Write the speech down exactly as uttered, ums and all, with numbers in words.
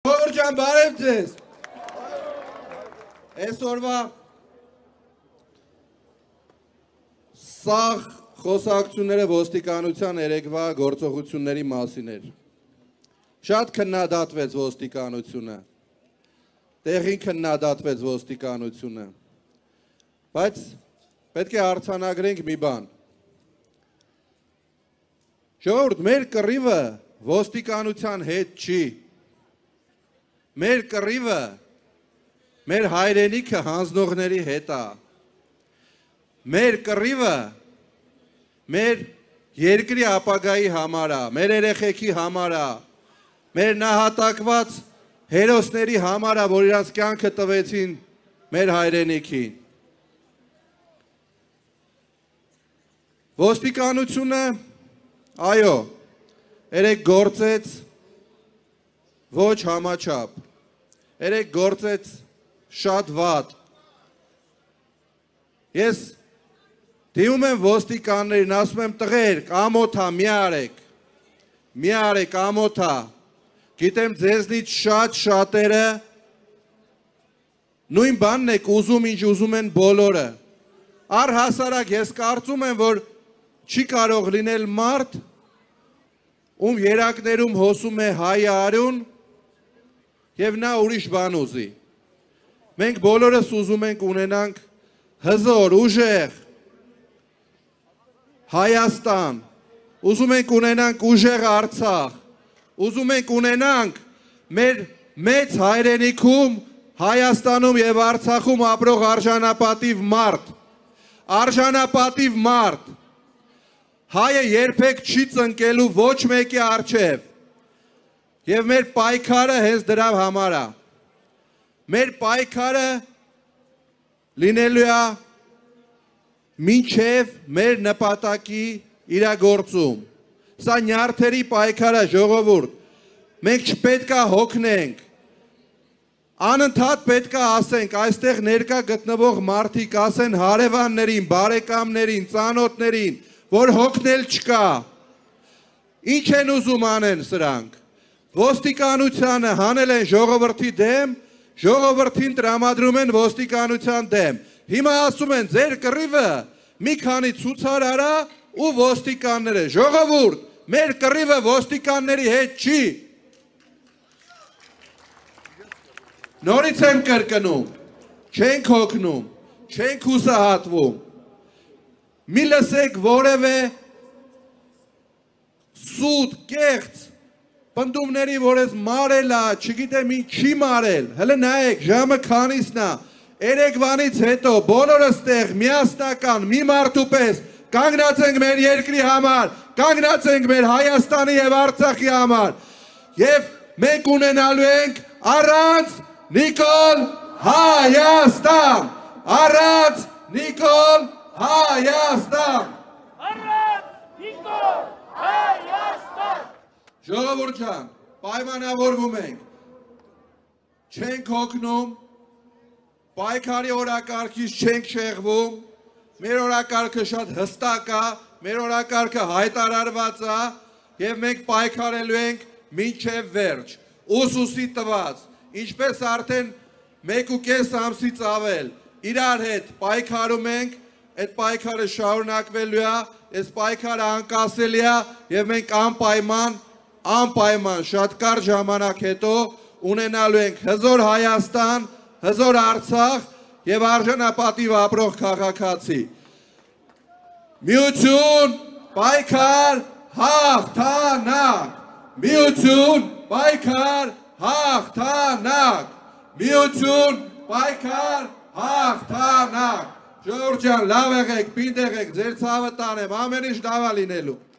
Ժողովուրդ բարև ձեզ։ Այսօրվա սաղ խոսակցությունները ոստիկանության երեկվա գործողությունների մասին էր։ Շատ քննադատվեց ոստիկանությունը, տեղին քննադատվեց ոստիկանությունը, բայց պետք է արձանագրենք մի բան։ Ժողովուրդ, մեր կռիվը ոստիկանության հետ չի, մեր կռիվը մեր հայրենիքը հանձնողների հետ է, մեր կռիվը մեր երկրի ապագայի համար է, մեր երեխեքի համար է, մեր նահատակված հերոսների համար է, որ իրենց կյանքը տվեցին մեր հայրենիքին։ Ոստիկանությունը, այո, երեք գործեց ոչ համաչափ, երեք գործեց շատ վատ։ Ես դիմում եմ ոստիկաններին, ասում եմ տղերք, ամոթա, մի արեք, մի արեք, ամոթա, գիտեմ ձեզնից շատ շատերը նույն բանն եք ուզում, ինչ ուզում են բոլորը։ Առհասարակ ես կարծում եմ, որ չի կարող լինել մարդ, ում երակներում հոսում է հայ արյուն և նա ուրիշ բան ուզի։ Մենք բոլորս ուզում ենք ունենանք հզոր, ուժեղ Հայաստան, ուզում ենք ունենանք ուժեղ Արցախ, ուզում ենք ունենանք մեր մեծ հայրենիքում, Հայաստանում և Արցախում ապրող արժանապատիվ մարդ, արժանապատիվ մարդ, հայը երբեք չի ծնկելու ոչ մեկի առջև և մեր պայքարը հենց դրա համար է։ Մեր պայքարը լինելու է մինչև մեր նպատակի իրագործում։ Սա նյարդերի պայքար է, ժողովուրդ։ Մենք չպետք է հոգնենք։ Անընդհատ պետք է ասենք, այստեղ ներկա գտնվող մարդիկ ասեն հարևաններին, բարեկամներին, ծանոթներին, որ հոգնել չկա։ Ինչ են ուզում անեն սրանք։ Ոստիկանությանը հանել են ժողովրդի դեմ, ժողովրդին տրամադրում են ոստիկանության դեմ։ Հիմա ասում են ձեր կռիվը մի քանի ցուցարար է ու ոստիկանները։ Ժողովուրդ, մեր կռիվը ոստիկանների հետ չի։ Նորից եմ կրկնում, չենք հոգնում, չենք հուսահատվում։ Մի լսեք որևէ սուտ, կեղծ, պնդումների, որ ես մարել է, չգիտեմ ինչ չի մարել, հլը նայեք, ժամը քանիսն է, երեկվանից հետո բոլորս տեղ միասնական, մի մարդու պես կանգնած ենք մեր երկրի համար, կանգնած ենք մեր Հայաստանի և Արցախի համար և մենք ունենալու ենք առանց Նիկոլ Հայաստան, առանց Նիկոլ Հայաստան, առանց Նիկոլ Հայաստան։ Ժողովուրդ ջան, պայմանավորվում ենք, չենք հոգնում, պայքարի օրակարգից չենք շեղվում, մեր օրակարգը շատ հստակ է, մեր օրակարգը հայտարարված է և մենք պայքարելու ենք մինչև վերջ, ուսուսի տված, ինչպես արդեն մեկ ու կես ամսից ավել, իրար հետ պայքարում ենք, այդ պայքարը շարունակվելու է, այս պայքարը անկասելի է և մենք անպայման, անպայման շատ կարճ ժամանակ հետո ունենալու ենք հզոր Հայաստան, հզոր Արցախ և արժանապատիվ ապրող քաղաքացի։ Միություն, պայքար, հաղթանակ, միություն, պայքար, հաղթանակ, միություն, պայքար, հաղթանակ։ Ժողովուրդ ջան, լավ եղեք, պինդ եղեք, ձեր ցավը տանեմ, ամեն ինչ լավ է լինելու։